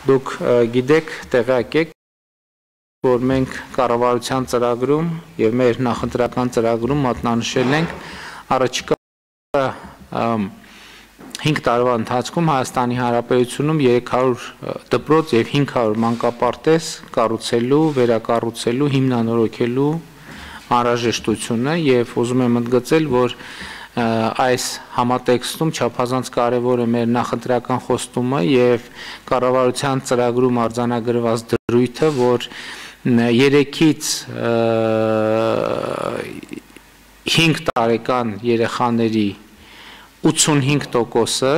Դուք գիտեք, տեղյակ եք, որ մենք կառավարության ծրագրում եւ մեր նախընտրական ծրագրում մատնանշել ենք առաջիկա 5 տարվա ընթացքում Հայաստանի Հանրապետությունում 300 դպրոց եւ 500 մանկապարտեզ կառուցելու, վերակառուցելու, հիմնանորոգելու անհրաժեշտությունը եւ ուզում եմ ընդգծել, որ այս համատեքստում չափազանց կարևոր է մեր նախընտրական խոստումը եւ կառավարության ծրագրում արձանագրված դրույթը, որ 3-ից 5 տարեկան երեխաների 85%-ը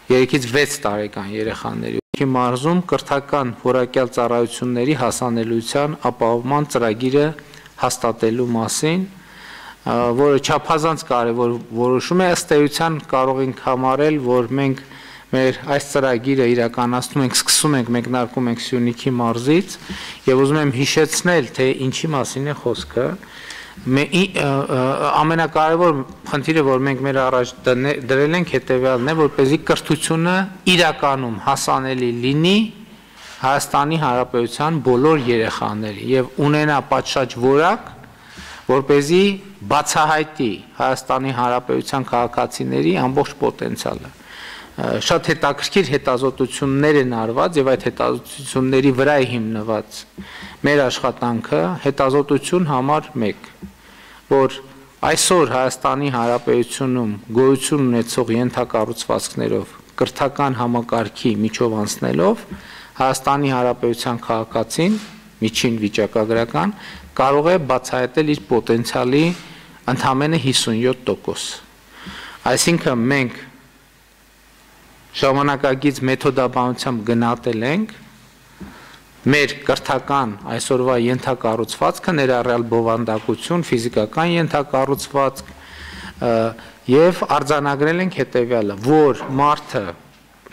3-ից 6 տարեկան երեխաների մարզում կրթական որակյալ ծառայությունների հասանելիության ապահովման ծրագիրը հաստատելու մասին, որը չափազանց կարևոր որոշում է, ըստ էության կարող ենք համարել, որ մենք մեր այս ծրագիրը իրականացնում ենք, սկսում ենք, մեկնարկում ենք Սյունիքի մարզից եւ ուզում եմ հիշեցնել, թե ինչի մասին է խոսքը։ Ամենակարևոր խնդիրը, որ մենք մեր առաջ դրել ենք, հետեւյալն է, որպեսզի կրթությունը իրականում հասանելի լինի Հայաստանի Հանրապետության բոլոր երեխաների եւ ունենա պատշաճ որակ, որպեսզի բացահայտի Հայաստանի Հանրապետության քաղաքացիների ամբողջ պոտենցիալը։ Շատ հետաքրքիր հետազոտություններ են արված եւ այդ հետազոտությունների վրա է հիմնված մեր աշխատանքը, հետազոտություն համար 1, որ այսօր Հայաստանի Հանրապետությունում գոյություն ունեցող ենթակառուցվածքներով կրթական համակարգի միջով անցնելով Հայաստանի Հանրապետության քաղաքացին միջին վիճակագրական կարող է բացահայտել իր պոտենցիալի ընդամենը 57%։ Այսինքն մենք ժամանակակից մեթոդաբանությամբ գնահատել ենք մեր կրթական այսօրվա ենթակառուցվածքը, ներառյալ բովանդակություն, ֆիզիկական ենթակառուցվածք եւ արձանագրել ենք հետեւյալը, որ մարդը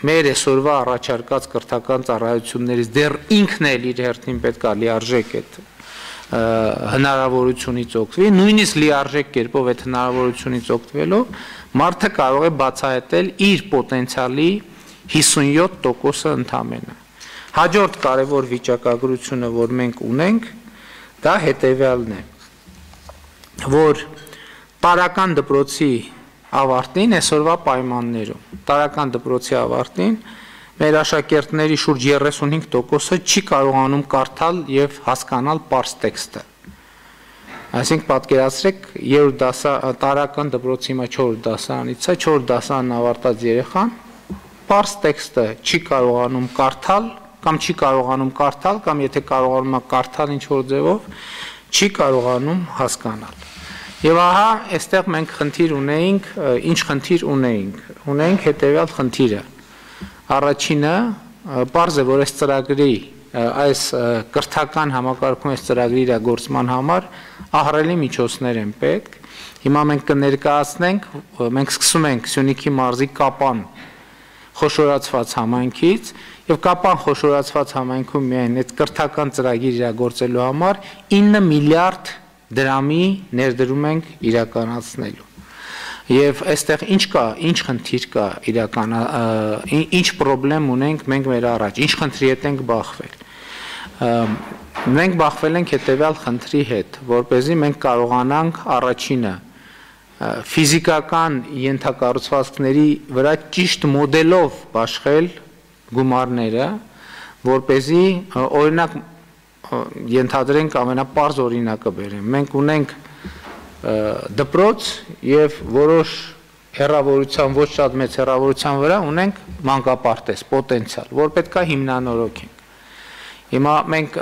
մեր այսօրվա առաջարկած կրթական ծառայություններից դեռ ինքն էլ իր հերթին պետք է լիարժեք այդ հնարավորությունից օգտվի, նույնիսկ լիարժեք կերպով այդ հնարավորությունից օգտվելով մարդը կարող է բացահայտել իր պոտենցիալի 57%-ը ընդամենը։ Հաջորդ կարևոր վիճակագրությունը, որ մենք ունենք, դա հետեւյալն է, որ տարական դպրոցի ավարտին այսօրվա պայմաններում տարական դպրոցի ավարտին մեր աշակերտների շուրջ 35%-ը չի կարողանում կարդալ եւ հասկանալ պարզ տեքստը։ Այսինքն պատկերացրեք, տարական դպրոցի հիմա 4 դասարանից է, 4 դասարանն ավարտած երեխան պարզ տեքստը չի կարողանում կարդալ կամ չի կարողանում կարդալ կամ եթե կարողանում է կարդալ ինչ-որ ձևով, չի կարողանում հասկանալ։ Եվ ահա, այստեղ մենք խնդիր ունեինք, ինչ խնդիր ունեինք հետևյալ խնդիրը։ Առաջինը, պարզ է, որ այս ծրագրի, այս կրթական համակարգում այս ծրագրի իրագործման համար ահռելի միջոցներ են պետք։ Հիմա մենք կներկայացնենք, մենք սկսում ենք Սյունիքի մարզի Կապան խոշորացված համայնքից եւ Կապան խոշորացված համայնքում միայն այդ կրթական ծրագիր իրագործելու համար 9 միլիարդ դրամի ներդրում ենք իրականացնելու։ Եվ այստեղ ինչ կա, ինչ խնդիր կա ինչ խնդրեմ ունենք մենք մեր առաջ, ինչ խնդրի հետ ենք բախվել։ Մենք բախվել ենք հետևյալ խնդրի հետ, որպեսզի մենք կարողանանք առաջինը ֆիզիկական ենթակառուցվածքների վրա ճիշտ մոդելով բաշխել գումարները, որպեսզի օրինակ ենթադրենք ամենապարզ օրինակը բերեմ։ Մենք ունենք դպրոց եւ որոշ հեռավորության, ոչ շատ մեծ հեռավորության վրա ունենք մանկապարտեզ, պոտենցիալ, որ պետքա հիմնանորոգենք։ Հիմա մենք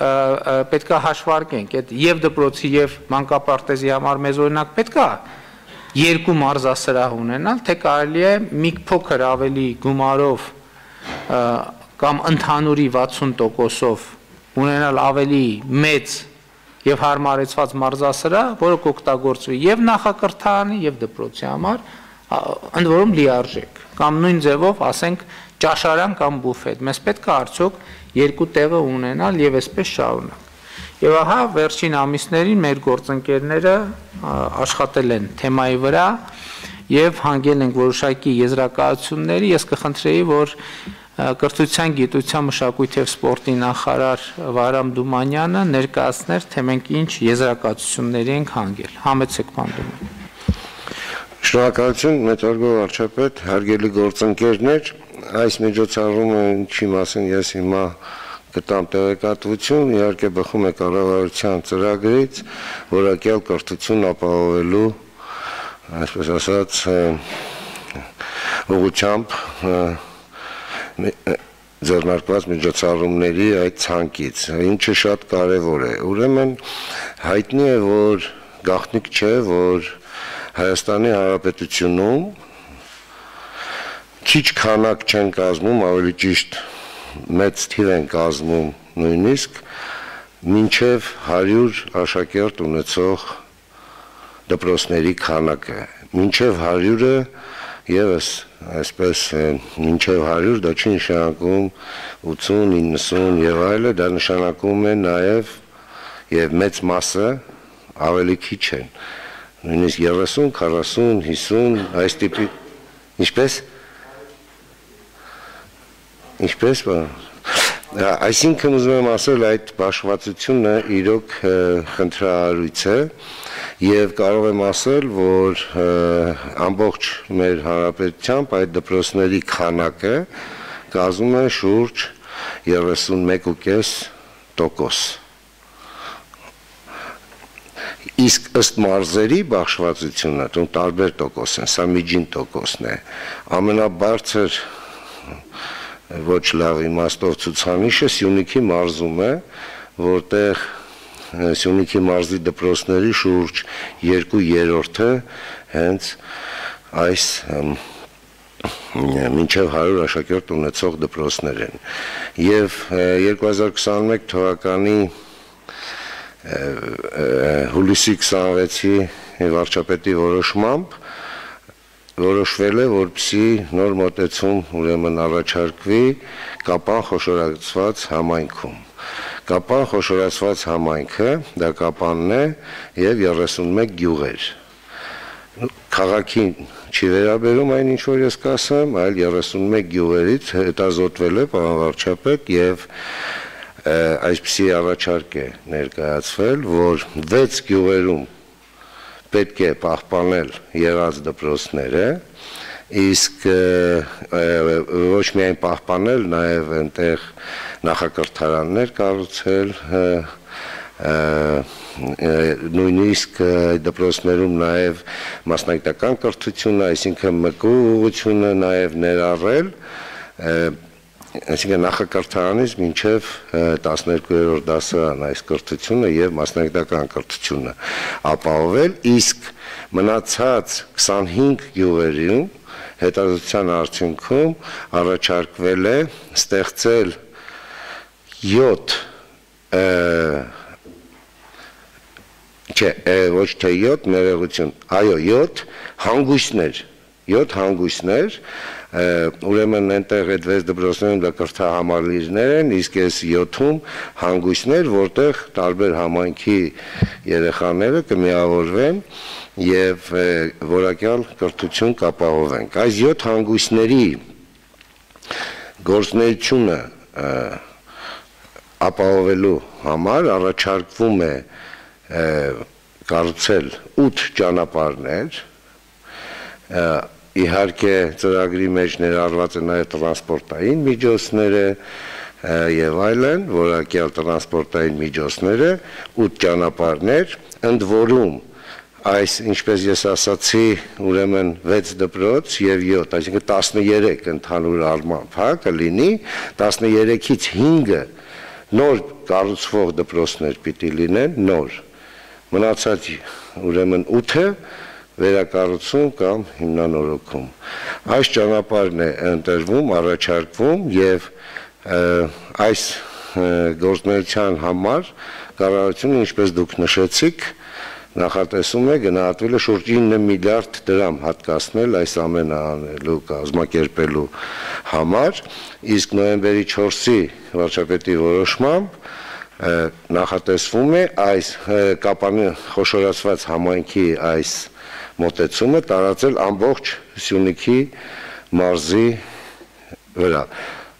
պետքա հաշվարկենք այդ եւ դպրոցի եւ մանկապարտեզի համար մեզ օրինակ պետքա 2 մարզասրահ ունենալ, թե կարելի է մի փոքր ավելի գումարով կամ ընդհանուրի 60%-ով ունենալ ավելի մեծ եւ հարմարեցված մարզասրահ, որը կօգտագործվի եւ նախակրթարանի եւ դպրոցի համար, ընդ որում լիարժեք, կամ նույն ձևով, ասենք, ճաշարան կամ բուֆետ։ Մեզ պետք է արդյոք 2 տեղը ունենալ եւ այսպես շարունակ։ Եվ ահա վերջին ամիսներին մեր գործընկերները աշխատել են թեմայի վրա եւ հանգել ենք որոշակի եզրակացությունների, ես կխնդրեի, որ Կրթության, գիտության, մշակույթի և սպորտի նախարար Վահրամ Դումանյանը ներկայացներ, թե մենք ինչ եզրակացությունների ենք հանգել։ Համեցեք պանդում։ Շնորհակալություն, մեծարգո վարչապետ, հարգելի գործընկերներ, այս միջոցառումը ինչի մասին ես հիմա կտամ տեղեկատվություն, իհարկե բխում է կառավարության ծրագրից, որակյալ կրթություն ապահովելու, այսպես ասած, ուղղությամբ ձեռնարկված միջոցառումների այդ ցանկից, ինչը շատ կարևոր է։ Ուրեմն հայտնի է, որ գաղտնիք չէ, որ Հայաստանի Հանրապետությունում քիչ քանակ չեն կազմում, ավելի ճիշտ մեծ թիվ են կազմում նույնիսկ մինչև 100 աշակերտ ունեցող դպրոցների քանակը։ Մինչև 100-ը եւս այսպես մինչև 100 դա չի նշանակում 80, 90 եւ այլը, դա նշանակում է նաեւ եւ մեծ մասը ավելի քիչ են։ Նույնիսկ 30, 40, 50 այս տիպի Ինչպես այսինքն ուզում եմ ասել, այդ բաշխվածությունը իրոք խնդրահարույց է եւ կարող եմ ասել, որ ամբողջ մեր հանրապետությամբ այդ դպրոցների քանակը կազմում է շուրջ 31.5%։ Իսկ ըստ մարզերի բաշխվածությունը տարբեր տոկոս են, սա միջին տոկոսն է, ամենաբարձր ոչ լավ իմաստով ցուցանիշը Սյունիքի մարզում է, որտեղ Սյունիքի մարզի դպրոցների շուրջ 2/3-ը հենց այս մինչև 100 աշակերտ ունեցող դպրոցներ են։ Եվ 2021 թվականի հուլիսի 26-ի վարչապետի որոշմամբ որոշվել է, որպեսզի նոր մոտեցում ուրեմն առաջարկվի Կապան խոշորացված համայնքում։ Կապան խոշորացված համայնքը դա Կապանն է եւ 31 գյուղեր։ Քաղաքին չի վերաբերում այն ինչ որ ես կասեմ, այլ 31 գյուղերից հետազոտվել է պարոն վարչապետ եւ այսպիսի առաջարկ է ներկայացվել, որ 6 գյուղերում պետք է պահպանել եղած դպրոցները, իսկ ոչ միայն պահպանել, նաև այնտեղ նախակրթարաններ կառուցել, նույնիսկ դպրոցներում նաև մասնագիտական կրթությունը, այսինքն ՄԿ ուղղությունը նաև ներառել, այսինքն նախակրթարանից մինչև 12-րդ դասարան այս կրթությունը եւ մասնագիտական կրթությունը ապահովել, իսկ մնացած 25 գյուղերում հետազոտության արդյունքում առաջարկվել է ստեղծել 7 ոչ թե 7 ներողություն, այո 7 հանգույցներ, ուրեմն այնտեղ այդ 6 դպրոցներում դա կրթահամալիրներ են, իսկ այս 7-ում հանգույցներ, որտեղ տարբեր համայնքի երեխաները կմիավորվեն եւ որակյալ կրթություն կապահովենք։ Այս 7 հանգույցների գործունեությունը ապահովելու համար առաջարկվում է կառուցել 8 ճանապարհներ, իհարկե ծրագրի մեջ ներառված են նաև տրանսպորտային միջոցները եւ այլն, որակյալ տրանսպորտային միջոցները, 8 ճանապարհներ, ընդ որում այս, ինչպես ես ասացի, ուրեմն 6 դպրոց եւ 7, այսինքն 13 ընդհանուր առմամբ, կլինի, 13-ից 5-ը նոր կառուցվող դպրոցներ պիտի լինեն, նոր։ Մնացած ուրեմն 8-ը վերակառուցում կամ հիմնանորոգում։ Այս ճանապարհն է ընտրվում, առաջարկվում եւ այս գործունեության համար կառավարությունը, ինչպես դուք նշեցիք, նախատեսում է գնահատվել է շուրջ 9 միլիարդ դրամ հատկացնել այս ամենը անելու կազմակերպելու համար, իսկ նոյեմբերի 4-ի վարչապետի որոշմամբ նախատեսվում է այս Կապանի խոշորացված համայնքի այս մոտեցումը տարածել ամբողջ Սյունիքի մարզի վրա։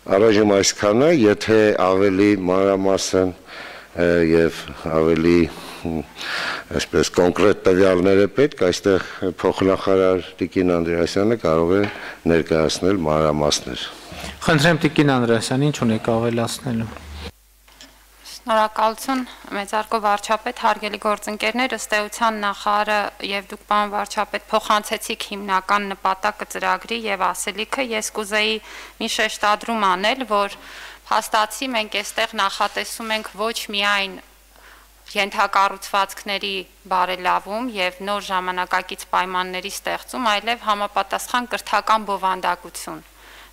Առայժմ այսքանը, եթե ավելի մանրամասն եւ ավելի այսպես կոնկրետ տվյալներ է պետք, այստեղ փոխնախարար Տիկին Անդրեասյանը կարող է ներկայացնել մանրամասներ։ Խնդրեմ Տիկին Անդրեասյան, ինչ ունեք ավելացնելու։ Շնորհակալություն մեծարգո վարչապետ, հարգելի գործընկերներ, ըստ էության նախարարը եւ դուք պարոն վարչապետ փոխանցեցիք հիմնական նպատակը ծրագրի եւ ասելիքը, ես կուզեի մի շեշտադրում անել, որ փաստացի մենք այստեղ նախատեսում ենք ոչ միայն ենթակառուցվածքների բարելավում եւ նոր ժամանակակից պայմանների ստեղծում, այլև համապատասխան կրթական բովանդակություն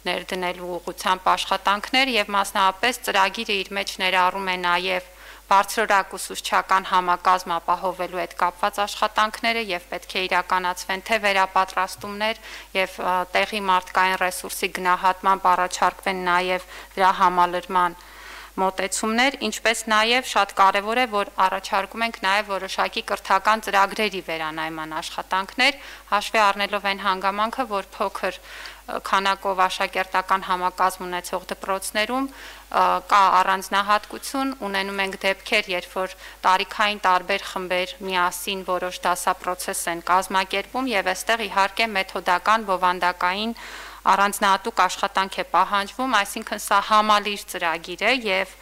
ներդնելու ուղղությամբ աշխատանքներ եւ մասնավորապես ծրագիրը իր մեջ ներառում է նաեւ բարձրորակ ուսուցչական համակազմ ապահովելու հետ կապված աշխատանքները եւ պետք է իրականացվեն թե վերապատրաստումներ եւ տեղի մարդկային ռեսուրսի գնահատման առաջարկվեն նաեւ դրա համալրման մոտեցումներ, ինչպես նաև շատ կարևոր է, որ առաջարկում ենք նաև որոշակի կրթական ծրագրերի վերանայման աշխատանքներ, հաշվի առնելով այն հանգամանքը, որ փոքր քանակով աշակերտական համակազմ ունեցող դպրոցներում կա առանձնահատկություն, ունենում ենք դեպքեր, երբ որ տարիքային տարբեր խմբեր միասին որոշ դասապրոցես են կազմակերպում եւ այստեղ իհարկե մեթոդական բովանդակային առանձնահատուկ աշխատանք է պահանջվում, այսինքն սա համալիր ծրագիր է եւ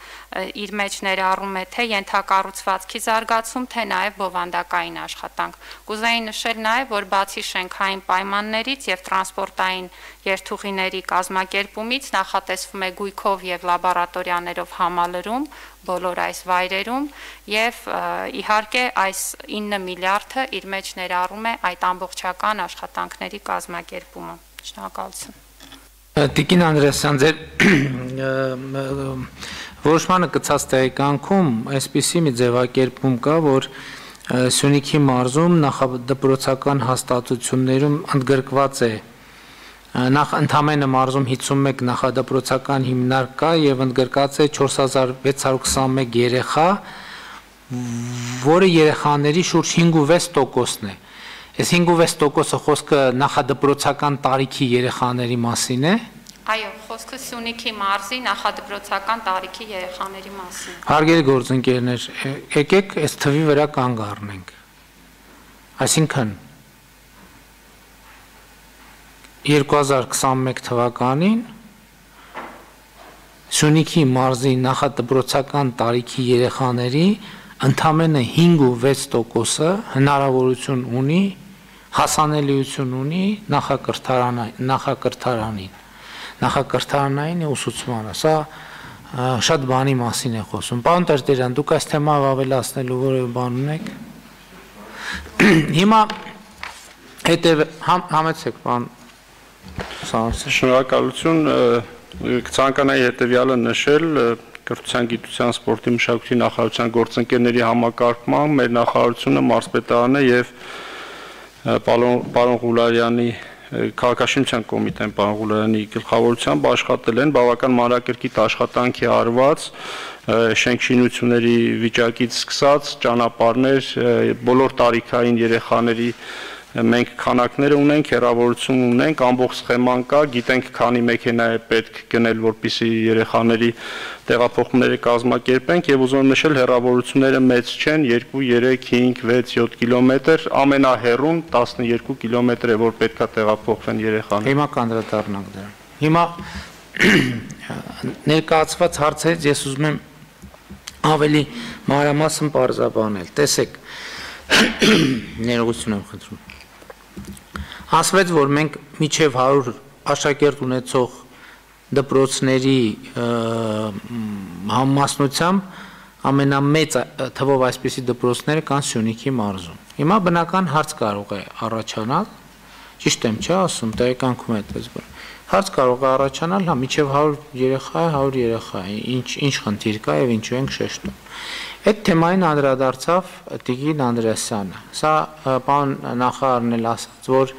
իր մեջ ներառում է թե ենթակառուցվածքի զարգացում, թե նաեւ բովանդակային աշխատանք։ Կուզեի նշել նաեւ, որ բացի շենքային պայմաններից եւ տրանսպորտային երթուղիների կազմակերպումից նախատեսվում է գույքով եւ լաբորատորիաներով համալրում բոլոր այս վայրերում եւ իհարկե այս 9 միլիարդը իր մեջ ներառում է այդ ամբողջական աշխատանքների կազմակերպումը։ Շնորհակալություն։ Տիկին Անդրեասյան, ձեր որոշմանը գծած տեղեկանքում այսպիսի մի ձևակերպում կա, որ Սյունիքի մարզում նախադպրոցական հաստատություններում ընդգրկված է նախ ընդամենը մարզում 51 նախադպրոցական հիմնարկ կա եւ ընդգրկած է 4621 երեխա, որը երեխաների շուրջ 5.6%-ն է։ Այս 5.6%-ը խոսքը նախադպրոցական տարիքի երեխաների մասին է։ Այո, խոսքը Սյունիքի մարզի նախադպրոցական տարիքի երեխաների մասին։ Հարգելի գործընկերներ, եկեք այս թվի վրա կանգ առնենք։ Այսինքն 2021 թվականին Սյունիքի մարզի նախադպրոցական տարիքի երեխաների ընդամենը 5.6%-ը հնարավորություն ունի, հասանելիություն ունի նախակրթարանային ուսուցմանը։ Սա շատ բանի մասին է խոսում։ Պարոն Տերտերյան, դուք այս թեմայով ավելացնելու որևէ բան ունեք։ Հիմա համեցեք, պարոն Սանոսյան։ Շնորհակալություն, կցանկանայի հետևյալը նշել Կրթության, գիտության, սպորտի, մշակույթի նախարարության գործընկերների համակարգման մեր նախարարությունը մարզպետարանը եւ պարոն Ղուլարյանի քաղաքաշինության կոմիտեն պարոն Ղուլարյանի գլխավորությամբ աշխատել են բավական մանրակրկիտ աշխատանք է արված շենքշինությունների վիճակից սկսած ճանապարհներ բոլոր տարիքային երեխաների մենք քանակները ունենք, հեռավորություն ունենք, ամբողջ սխեման կա, գիտենք քանի մեքենա է պետք գնել, որպեսզի երեխաների տեղափոխումները կազմակերպենք եւ ուզում եմ նշել հեռավորությունները մեծ չեն, 2, 3, 5, 6, 7 կիլոմետր, ամենահեռուն 12 կիլոմետր է, որ պետքա տեղափոխվեն երեխաները։ Հիմա կանդրադառնանք դրան։ Հիմա ներկայացված հարցերից ես ուզում եմ ավելի մանրամասն պարզաբանել։ Տեսեք, ներողություն եմ խնդրում։ Ասվեց, որ մենք միջև 100 աշակերտ ունեցող դպրոցների համամասնությամբ ամենամեծ թվով այսպիսի դպրոցները կան Սյունիքի մարզում։ Հիմա բնական հարց կարող է առաջանալ, ճիշտ եմ չէ ասում, տեղեկանքում է այդպես բան։ Հարց կարող է առաջանալ, հա, միջև 100 երեխա է, 100 երեխա է, ինչ խնդիր կա եւ ինչու ենք շեշտում։ Այդ թեմային անդրադարձավ Տիկին Անդրեասյանը։ Սա պարոն նախարարն էլ ասաց, որ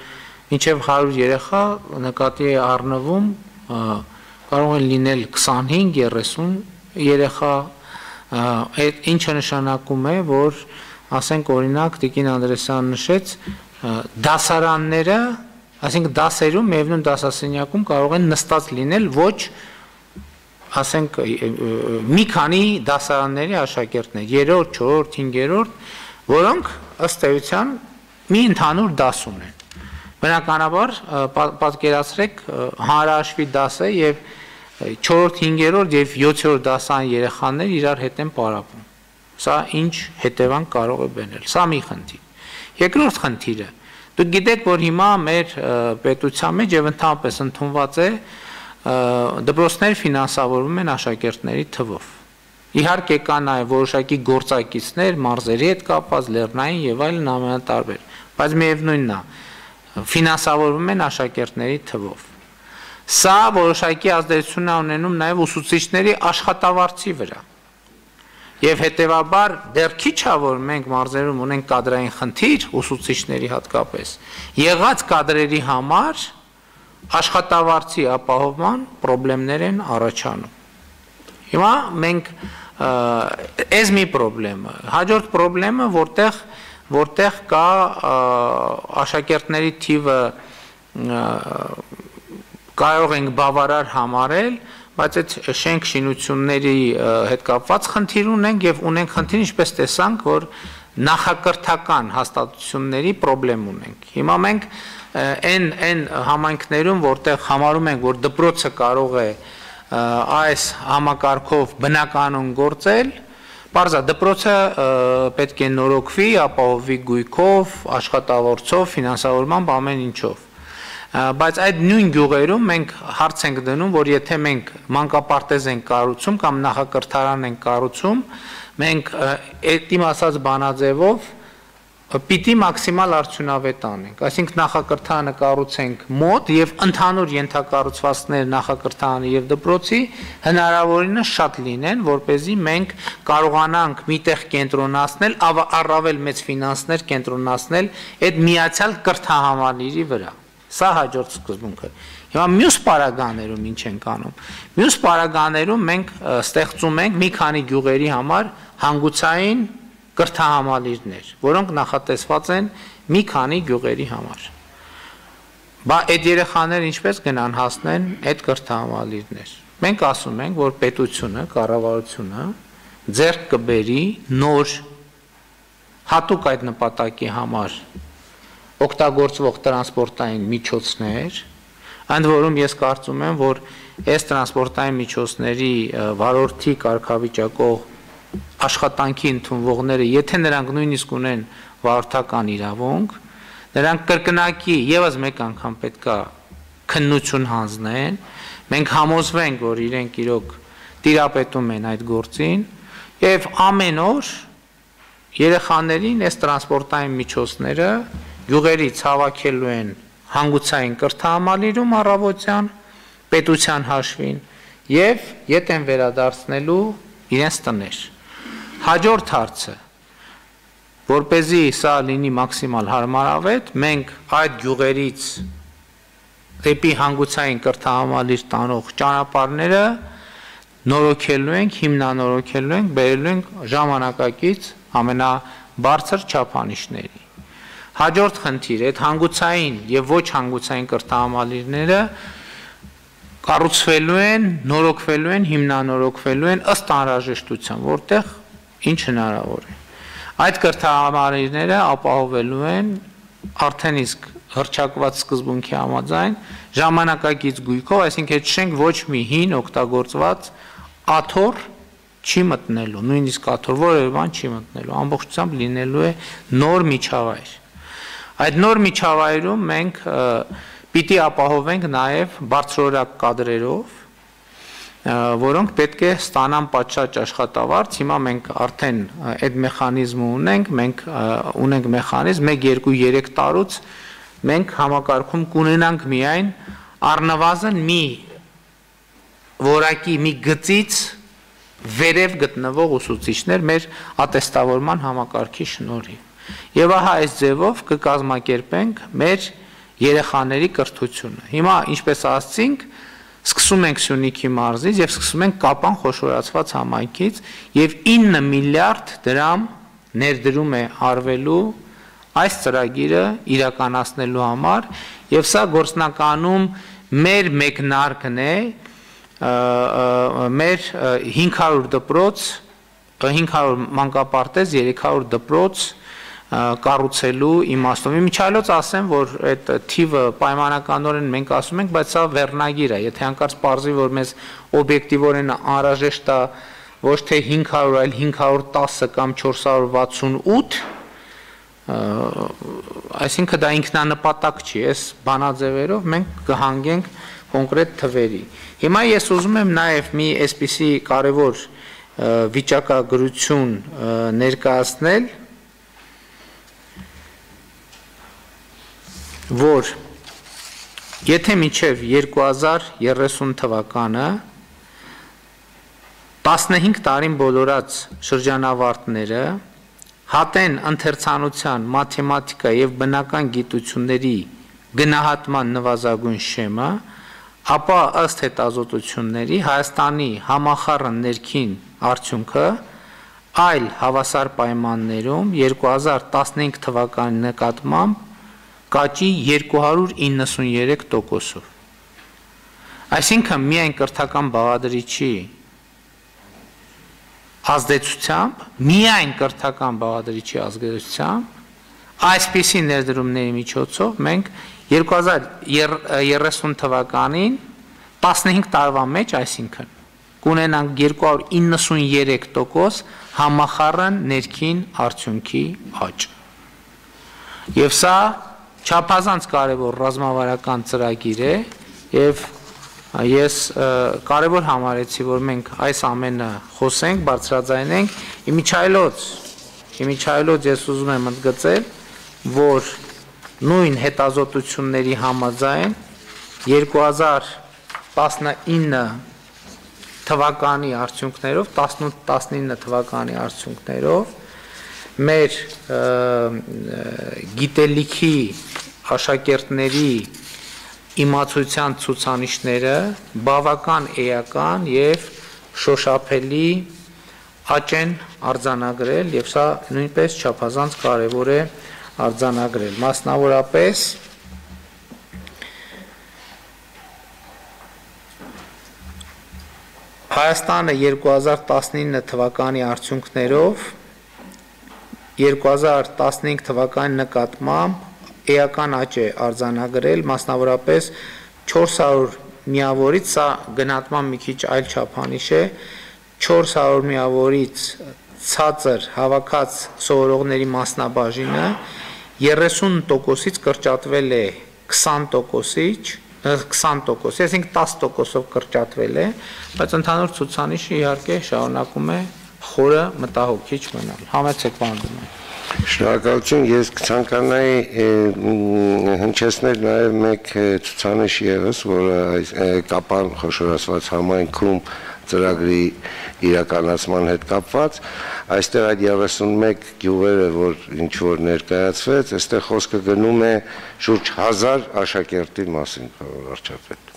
մինչև 100 երեխա նկատի է առնվում, կարող են լինել 25-30 երեխա, այդ ինչը նշանակում է, որ ասենք օրինակ Տիկին Անդրեասյանը նշեց, դասարանները, այսինքն դասերում, միևնույն դասասենյակում կարող են նստած լինել ոչ ասենք մի քանի դասարանների աշակերտներ, 3-րդ, 4-րդ, 5-րդ, որոնք ըստ էության մի ընդհանուր դաս ունեն։ Բնականաբար պատկերացրեք հանրահաշվի դասը եւ 4-րդ, 5-րդ եւ 7-րդ դասային երեխաներ իրար հետ են պարապում։ Սա ինչ հետևանք կարող է բերել։ Սա մի խնդիր։ Երկրորդ խնդիրը, դուք գիտեք, որ հիմա մեր պետության մեջ եւ ընդհանրապես ընդունված է դպրոցներ ֆինանսավորվում են աշակերտների թվով։ Իհարկե կա նաեւ որոշակի գործակիցներ, մարզերի հետ կապված, լեռնային եւ այլն ամենատարբեր, բայց միևնույնն է, ֆինանսավորվում են աշակերտների թվով։ Սա որոշակի ազդեցություն է ունենում նաեւ ուսուցիչների աշխատավարձի վրա։ Եվ հետևաբար դեռ քիչ է, որ մենք մարզերում ունենք կադրային խնդիր ուսուցիչների հատկապես, եղած կադրերի համար աշխատավարձի ապահովման խնդիրներ են առաջանում։ Հիմա մենք այս մի խնդրեմը, հաջորդ խնդրեմը, որտեղ կա աշակերտների թիվը կարող ենք բավարար համարել, բայց այդ շենք շինությունների հետ կապված խնդիր ունենք եւ ունենք խնդիր, ինչպես տեսանք, որ նախակրթական հաստատությունների խնդրեմ ունենք։ Հիմա մենք այն համայնքներում, որտեղ համարում ենք, որ դպրոցը կարող է այս համակարգով բնականon գործել, բարձր դպրոցը պետք է նորոգվի, ապահովի գույքով, աշխատավորցով, ֆինանսավորմամբ ամեն ինչով։ Բայց այդ նույն գյուղերում մենք հարց ենք դնում, որ եթե մենք մանկապարտեզ ենք կառուցում կամ նախակրթարան ենք կառուցում, մենք այդ իմ ասած բանաձևով պիտի մաքսիմալ արդյունավետ անենք, այսինքն նախակրթարանը կառուցենք մոտ եւ ընդհանուր ենթակառուցվածքներ նախակրթարանի եւ դպրոցի հնարավորինս շատ լինեն, որպեսզի մենք կարողանանք միտեղ կենտրոնացնել, առավել մեծ ֆինանսներ կենտրոնացնել այդ միացյալ կրթահամալիրի վրա։ Սա հաջորդ սկզբունքը։ Հիմա մյուս պարագաներում ինչ ենք անում։ Մյուս պարագաներում մենք ստեղծում ենք մի քանի գյուղերի համար հանգուցային կրթահամալիրներ, որոնք նախատեսված են մի քանի գյուղերի համար։ Բա այդ երեխաները ինչպես գնան հասնեն այդ կրթահամալիրներ։ Մենք ասում ենք, որ պետությունը, կառավարությունը ձեռք կբերի նոր հատուկ այդ նպատակի համար օգտագործվող տրանսպորտային միջոցներ, ընդ որում ես կարծում եմ, որ այս տրանսպորտային միջոցների վարորդի կարգավիճակող աշխատանքի ընդունվողները, եթե նրանք նույնիսկ ունեն վարորդական իրավունք, նրանք կրկնակի եւս մեկ անգամ պետքա քննություն հանձնեն, մենք համոզվենք, որ իրենք իրոք տիրապետում են այդ գործին եւ ամեն օր երեխաներին այս տրանսպորտային միջոցները գյուղերից հավաքելու են հանգուցային կրթահամալիրում առավոտյան պետության հաշվին եւ ետ են վերադարձնելու իրենց տներ։ Հաջորդ հարցը, որպեսզի սա լինի մաքսիմալ հարմարավետ, մենք այդ գյուղերից դեպի հանգուցային կրթահամալիր տանող ճանապարհները նորոգելու ենք, հիմնանորոգելու ենք, բերելու ենք ժամանակակից ամենաբարձր չափանիշների։ Հաջորդ խնդիր, այդ հանգուցային եւ ոչ հանգուցային կրթահամալիրները կառուցվելու են, նորոգվելու են, հիմնանորոգվելու են ըստ անհրաժեշտության, որտեղ ինչ հնարավոր է։ Այդ կրթահամալիրները ապահովելու են արդեն իսկ հռչակված սկզբունքի համաձայն ժամանակակից գույքով, այսինքն այդ շենք ոչ մի հին օգտագործված աթոռ չի մտնելու, նույնիսկ աթոռ որևէ բան չի մտնելու, ամբողջությամբ լինելու է նոր միջավայր։ Այդ նոր միջավայրում մենք պիտի ապահովենք նաև բարձրորակ կադրերով, որոնք պետք է ստանան պատշաճ աշխատավարձ, հիմա մենք արդեն այդ մեխանիզմը ունենք, մենք ունենք մեխանիզմ 1, 2, 3 տարուց մենք համակարգում կունենանք միայն առնվազն մի որակի մի գծից վերև գտնվող ուսուցիչներ մեր ատեստավորման համակարգի շնորհիվ։ Եվ ահա այս ձևով կկազմակերպենք մեր երեխաների կրթությունը։ Հիմա ինչպես ասացինք, սկսում ենք Սյունիքի մարզից եւ սկսում ենք Կապան խոշորացված համայնքից եւ 9 միլիարդ դրամ ներդրում է արվելու այս ծրագիրը իրականացնելու համար եւ սա գործնականում մեր մեկնարկն է մեր 500 դպրոց, 500 մանկապարտեզ, 300 դպրոց կառուցելու իմաստով։ Միջայլոց ասեմ, որ այդ թիվը պայմանականորեն մենք ասում ենք, բայց սա վերնագիր է, եթե հանկարծ պարզի, որ մեզ օբյեկտիվորեն անհրաժեշտ է ոչ թե 500, այլ 510 կամ 468, այսինքն դա ինքնանպատակ չի, այս բանաձևերով մենք կհանգենք կոնկրետ թվերի։ Հիմա ես ուզում եմ նաև մի այսպիսի կարևոր վիճակագրություն ներկայացնել, որ եթե մինչև 2030 թվականը 15 տարին բոլորած շրջանավարտները հատեն ընթերցանության, մաթեմատիկա և բնական գիտությունների գնահատման նվազագույն շեմը, ապա ըստ հետազոտությունների Հայաստանի համախառն ներքին արդյունքը այլ հավասար պայմաններում 2015 թվականի նկատմամբ կաճի 293%-ով։ Այսինքն միայն կրթական բաղադրիչի ազդեցությամբ, միայն կրթական բաղադրիչի ազդեցությամբ այսպիսի ներդրումների միջոցով մենք 2030 թվականին 15 տարվա մեջ, այսինքն կունենանք 293% համախառն ներքին արդյունքի աճ։ Եվ սա չափազանց կարևոր ռազմավարական ծրագիր է, եւ ես կարևոր համարեցի, որ մենք այս ամենը խոսենք, բարձրաձայնենք, իմիջայլոց ես ուզում եմ ընդգծել, որ նույն հետազոտությունների համաձայն 2019 թվականի արդյունքներով, 18-19 թվականի արդյունքներով մեր գիտելիքի աշակերտների իմացության ցուցանիշները բավական էական եւ շոշափելի աճ են արձանագրել եւ սա նույնպես չափազանց կարեւոր է արձանագրել։ Մասնավորապես Հայաստանը 2019 թվականի արդյունքներով 2015 թվականի նկատմամբ էական աճ է արձանագրել, մասնավորապես 400 միավորից, սա գնահատման մի քիչ այլ չափանիշ է, 400 միավորից ցածր հավաքած սովորողների մասնաբաժինը 30%-ից կրճատվել է 20%-ից, այսինքն 10%-ով կրճատվել է, բայց ընդհանուր ցուցանիշը իհարկե շարունակում է խորը մտահոգիչ մնալ։ Համեցեք բանդում։ Շնորհակալություն, ես կցանկանայի հնչեցնել նաև մեկ ցուցանիշ ևս, որը կապան խոշորացված համայնքում ծրագրի իրականացման հետ կապված, այստեղ այդ 31 գյուղերը, որ ինչ որ ներկայացվեց, այստեղ խոսքը գնում է շուրջ 1000 աշակերտի մասին, վարչապետ։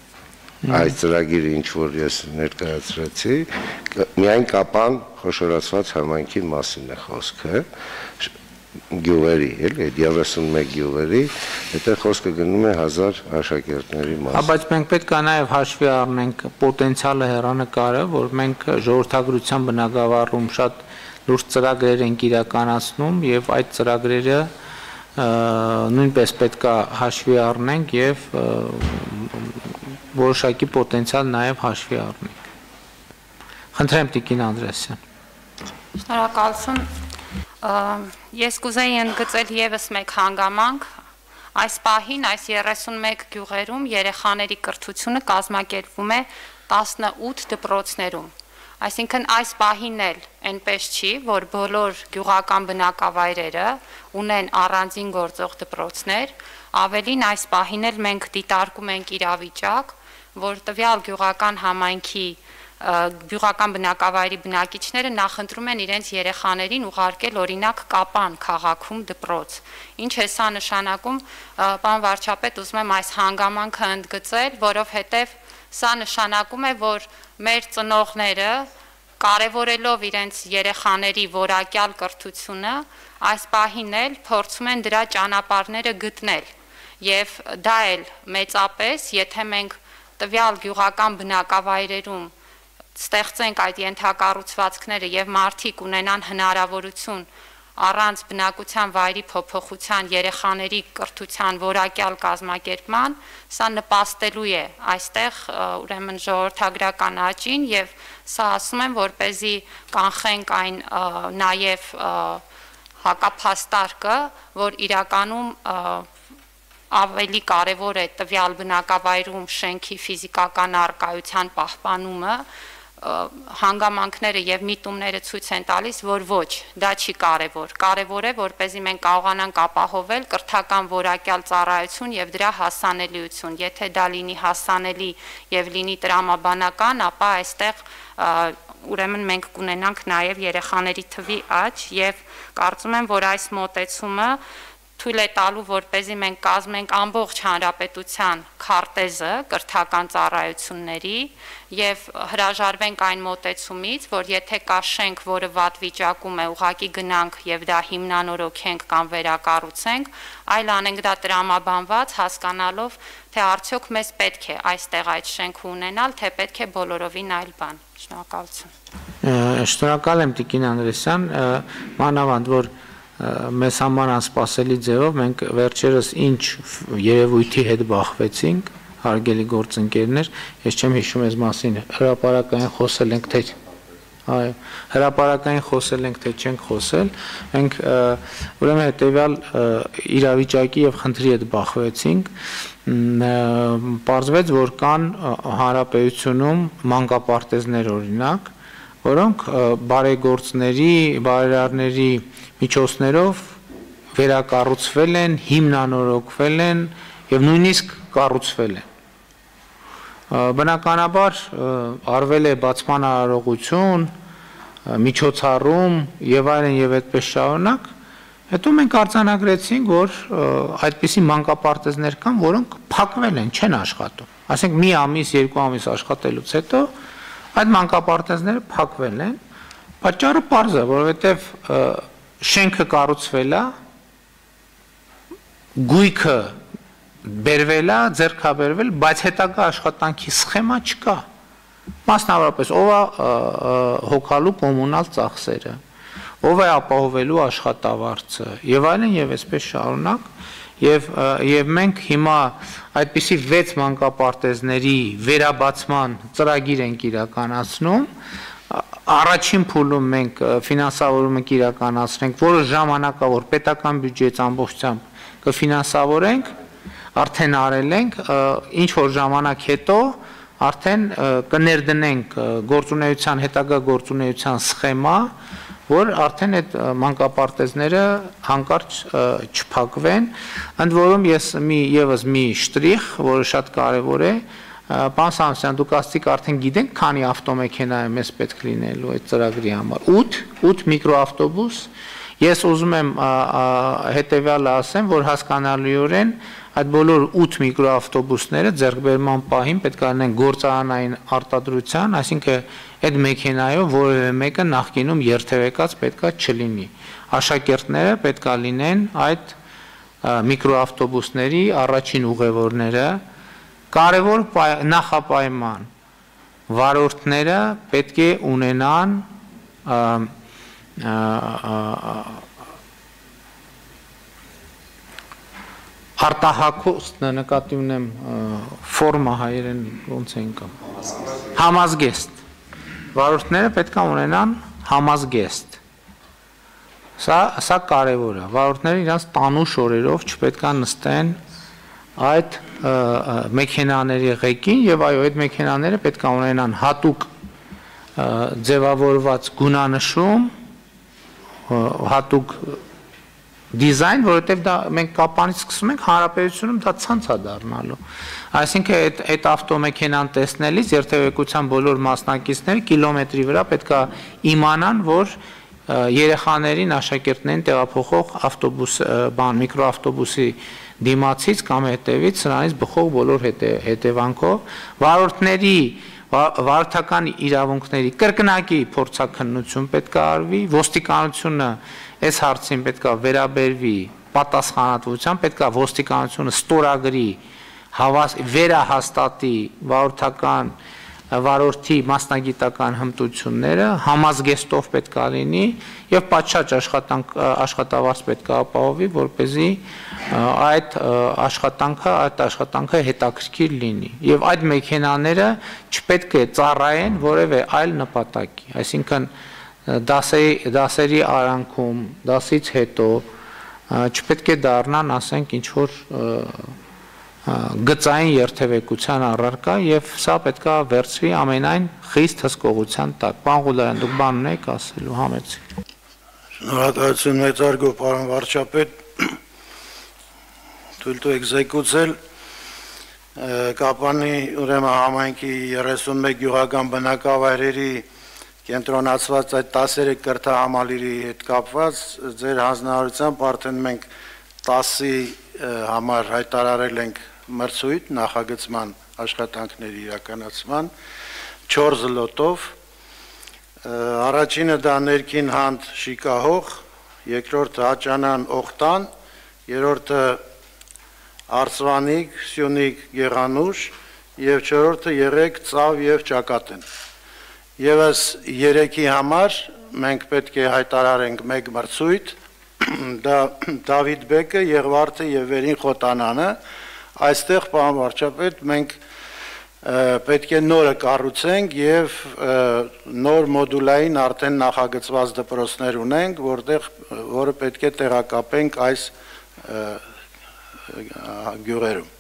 Այս ծրագիրը ինչ որ ես ներկայացրեցի, միայն կապան խոշորացված համայնքի մասին է խոսքը, գյուղերի, էլի, 31 գյուղերի, այդտեղ խոսքը գնում է 1000 աշակերտների մասին։ Բայց մենք պետք է նաև հաշվի առնենք պոտենցիալը հեռանկարը, որ մենք ժողովրդագրության բնագավառում շատ լուրջ ծրագրեր ենք իրականացնում եւ այդ ծրագրերը նույնպես պետք է հաշվի առնենք եւ որոշակի պոտենցիալ նաև հաշվի առնենք։ Խնդրեմ Տիկին Անդրեասյան։ Շնորհակալություն։ Ես կուզեի ընդգծել եւս մեկ հանգամանք, այս պահին այս 31 գյուղերում երեխաների կրթությունը կազմակերպվում է 18 դպրոցներում։ Այսինքն այս պահին էլ այնպես չի, որ բոլոր գյուղական բնակավայրերը ունեն առանձին գործող դպրոցներ, ավելին այս պահին էլ մենք դիտարկում ենք իրավիճակ, որ տվյալ գյուղական համայնքի գյուղական բնակավայրի բնակիչները նախընտրում են իրենց երեխաներին ուղարկել օրինակ Կապան քաղաքում դպրոց։ Ինչ է սա նշանակում, պարոն վարչապետ, ուզում եմ այս հանգամանքը ընդգծել, որովհետև սա նշանակում է, որ մեր ծնողները կարևորելով իրենց երեխաների որակյալ կրթությունը, այս պահին էլ փորձում են դրա ճանապարհները գտնել։ Եվ դա էլ մեծապես, եթե մենք տվյալ գյուղական բնակավայրերում ստեղծենք այդ ենթակառուցվածքները եւ մարդիկ ունենան հնարավորություն առանց բնակության վայրի փոփոխության երեխաների կրթության որակյալ կազմակերպման, սա նպաստելու է այստեղ ուրեմն ժողովրդագրական աճին եւ սա ասում եմ, որպեսզի կանխենք այն նաեւ հակափաստարկը, որ իրականում ավելի կարևոր է տվյալ բնակավայրում շենքի ֆիզիկական առկայության պահպանումը, հանգամանքները եւ միտումները ցույց են տալիս, որ ոչ, դա չի կարևոր։ Կարևոր է, որպեսզի մենք կարողանանք ապահովել կրթական որակյալ ծառայություն եւ դրա հասանելիություն։ Եթե դա լինի հասանելի եւ լինի տրամաբանական, ապա այստեղ ուրեմն մենք կունենանք նաեւ երեխաների թվի աճ եւ կարծում եմ, որ այս մոտեցումը թույլ է տալու, որպեսզի մենք կազմենք ամբողջ հանրապետության քարտեզը կրթական ծառայությունների եւ հրաժարվենք այն մոտեցումից, որ եթե կա շենք, որը վատ վիճակում է, ուղղակի գնանք եւ դա հիմնանորոգենք կամ վերակառուցենք, այլ անենք դա տրամաբանված, հասկանալով, թե արդյոք մեզ պետք է այստեղ այդ շենքը ունենալ, թե պետք է բոլորովին այլ բան։ Շնորհակալություն։ Շնորհակալ եմ Տիկին Անդրեսյան, մանավանդ որ մեզ համար անսպասելի ձևով մենք վերջերս ինչ երևույթի հետ բախվեցինք, հարգելի գործընկերներ, ես չեմ հիշում այս մասին, հրապարակային խոսել ենք, թե այո, հրապարակային խոսել ենք, թե չենք խոսել, մենք ուրեմն հետևյալ իրավիճակի եւ խնդրի հետ բախվեցինք, պարզվեց, որ կան հանրապետությունում մանկապարտեզներ օրինակ, որոնք բարեգործների, բարերարների միջոցներով վերակառուցվել են, հիմնանորոգվել են եւ նույնիսկ կառուցվել են։ Բնականաբար արվել է բացման արարողություն, միջոցառում եւ այլն եւ այդպես շարունակ, հետո մենք արձանագրեցինք, որ այդպիսի մանկապարտեզներ կան, որոնք փակվել են, չեն աշխատում։ Ասենք մի ամիս, երկու ամիս աշխատելուց հետո այդ մանկապարտեզները փակվել են, պատճառը պարզ է, որովհետև շենքը կառուցվել է, գույքը բերվել է, ձեռքաբերվել, բայց հետագա աշխատանքի սխեմա չկա։ Մասնավորապես ով է հոգալու կոմունալ ծախսերը, ով է ապահովելու աշխատավարձը եւ այլն եւ այսպես շարունակ եւ մենք հիմա այդպիսի 6 մանկապարտեզների վերաբացման ծրագիր ենք իրականացնում, առաջին փուլում մենք ֆինանսավորում ենք իրականացնենք, որը ժամանակավոր պետական բյուջեից ամբողջությամբ կֆինանսավորենք, արդեն արել ենք, ինչ որ ժամանակ հետո արդեն կներդնենք գործունեության հետագա գործունեության սխեմա, որ արդեն այդ մանկապարտեզները հանկարծ չփակվեն, ընդ որում ես եւս մի շտրիխ, որը շատ կարեւոր է, պարոն Սամսյան, դուք ասացիք արդեն գիտենք, քանի ավտոմեքենա է մեզ պետք լինելու այդ ծրագրի համար։ 8 միկրոավտոբուս։ Ես ուզում եմ հետեւյալը ասեմ, որ հասկանալիորեն այդ բոլոր 8 միկրոավտոբուսները ձեռքբերման պահին պետք է լինեն գործարանային արտադրության, այսինքն այդ մեքենայով որևէ մեկը նախկինում երթևեկած պետք է չլինի։ Աշակերտները պետք է լինեն այդ միկրոավտոբուսների առաջին ուղևորները, կարևոր նախապայման վարորդները պետք է ունենան արտահակոստ նկատի ունեմ ֆորմա հայերեն ոնց են կամ համազգեստ վարորդները պետք է ունենան համազգեստ սա կարևոր է վարորդները իրանց տանուշ օրերով չպետք է նստեն այդ մեքենաների ղեկին եւ այո այդ մեքենաները պետք է ունենան հատուկ ձևավորված գունանշում հատուկ դիզայն, որովհետև դա մենք կապանից սկսում ենք հանրապետությունում դա ցանց է դառնալու։ Այսինքն այդ ավտոմեքենան տեսնելիս երթևեկության բոլոր մասնակիցները կիլոմետրի վրա պետք է իմանան, որ երեխաներին, աշակերտներին տեղափոխող ավտոբուս, միկրոավտոբուսի դիմացից կամ հետևից սրանից բխող բոլոր հետևանքով վարորդների վարորդական իրավունքների կրկնակի փորձաքննություն պետք է արվի, ոստիկանությունը այս հարցին պետք է վերաբերվի պատասխանատվությամբ, պետք է ոստիկանությունը ստորագրի վերահաստատի վարորդի մասնագիտական հմտությունները համազգեստով պետք է լինի եւ պատշաճ աշխատավարձ պետք է ապահովի, որպեսզի այդ աշխատանքը հետաքրքիր լինի եւ այդ մեքենաները չպետք է ծառայեն որևէ այլ նպատակի, այսինքն դասերի արանքում, դասից հետո չպետք է դառնան, ասենք, ինչ որ գծային երթևեկության առարկա եւ սա պետք է վերցվի ամենայն խիստ հսկողության տակ։ Պարոն Ղուլարյան, դուք բան ունեք ասելու, համեցեք։ Շնորհակալություն մեծարգո, պարոն վարչապետ, թույլ տվեք զեկուցել Կապանի ուրեմն համայնքի 31 գյուղական բնակավայրերի կենտրոնացված այդ 13 կրթահամալիրի հետ կապված ձեր հանձնարարությամբ արդեն մենք 10-ի համար հայտարարել ենք մրցույթ նախագծման աշխատանքների իրականացման 4 լոտով, առաջինը դա ներքին հանդ Շիկահող, երկրորդը Հաճանան Օխտան, երրորդը Արծվանիկ, Սյունիք, Գեղանուշ եւ չորրորդը Եղեգ, Ծավ եւ Ճակատեն։ Եվս 3-ի համար մենք պետք է հայտարարենք մեկ մրցույթ, դա Դավիթ Բեկը, Եղվարդը եւ Վերին Խոտանանը, այստեղ պարոն վարչապետ մենք պետք է նորը կառուցենք եւ նոր մոդուլային արդեն նախագծված դպրոցներ ունենք, որը պետք է տեղակապենք այս գյուղերում։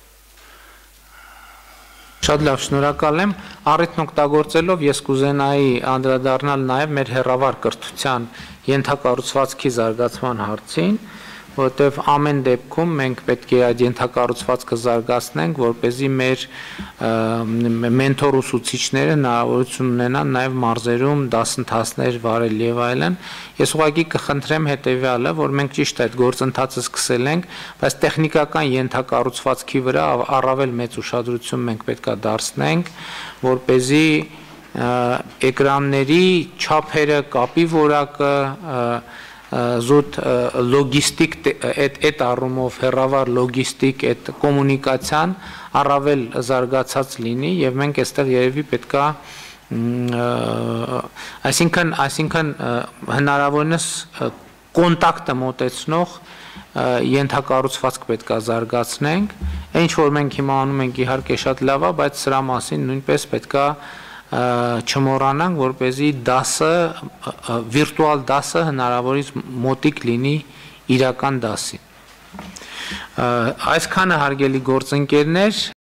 Շատ լավ, շնորհակալ եմ։ Առիթն օգտագործելով ես կուզենայի անդրադառնալ նաև մեր հեռավար կրթության ենթակառուցվածքի զարգացման հարցին, որտեղ ամեն դեպքում մենք պետք է այդ ենթակառուցվածքը զարգացնենք, որպեսզի մեր մենթոր ուսուցիչները հնարավորություն ունենան նաև մարզերում դասընթացներ վարել եւ այլն։ Ես ուղղակի կխնդրեմ հետեւյալը, որ մենք ճիշտ այդ գործընթացը սկսել ենք, բայց տեխնիկական ենթակառուցվածքի վրա առավել մեծ ուշադրություն մենք պետք է դարձնենք, որպեսզի էկրանների չափերը, կապի որակը զուտ լոգիստիկ այդ առումով հեռավար լոգիստիկ այդ կոմունիկացիան առավել զարգացած լինի եւ մենք այստեղ երևի պետքա այսինքն հնարավորինս կոնտակտը մոտեցնող ենթակառուցվածք պետքա զարգացնենք, ինչ որ մենք հիմա անում ենք իհարկե շատ լավ է, բայց սրա մասին նույնպես պետքա չմոռանանք, որպեսզի դասը վիրտուալ դասը հնարավորից մոտիկ լինի իրական դասին։ Այսքանը հարգելի գործընկերներ,